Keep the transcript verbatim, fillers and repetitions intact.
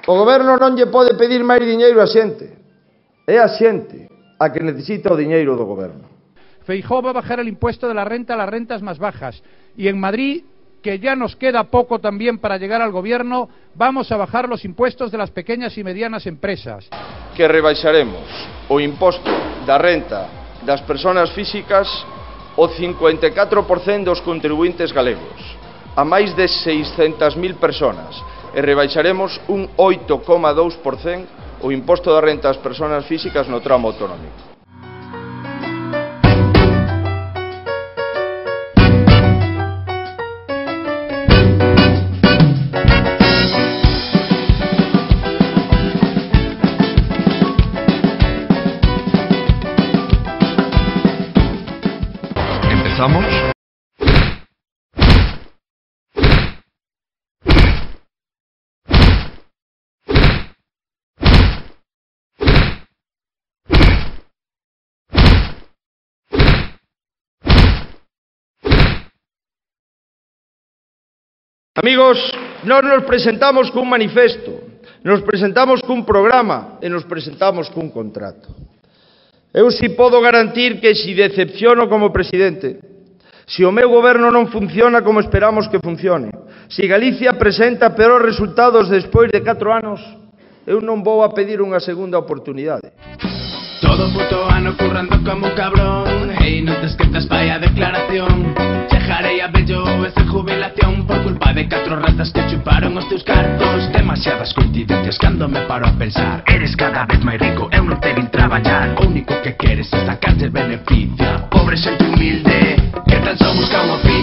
O goberno non lle pode pedir máis diñeiro á xente. É a xente a que necesita o diñeiro do goberno. Feijóo va a bajar el impuesto de la renta a las rentas más bajas. Y en Madrid, que ya nos queda poco también para llegar al gobierno, vamos a bajar los impuestos de las pequeñas y medianas empresas. Que rebaixaremos o imposto da renta das persoas físicas o cincuenta e catro por cento dos contribuintes galegos, a máis de seiscentas mil persoas, e rebaixaremos un oito coma dous por cento o imposto da renta das persoas físicas no tramo autonómico. ¿Empezamos? Amigos, nós nos presentamos cun manifesto, nos presentamos cun programa e nos presentamos cun contrato. Eu si podo garantir que si decepciono como presidente, si o meu goberno non funciona como esperamos que funcione, si Galicia presenta peores resultados despois de catro anos, eu non vou a pedir unha segunda oportunidade. Todo puto ano currando como un cabrón, hey, non te esquetas, vaya declaración. Chejarei a bello esa jubilación por culpa de catro ratas que chuparon os teus cartos. Demasiadas coincidencias cando me paro a pensar. Eres cada vez máis rico, eu non te vin traballar. O único que queres é sacarte beneficio. Pobre xente humilde, que tan só busca un oficio.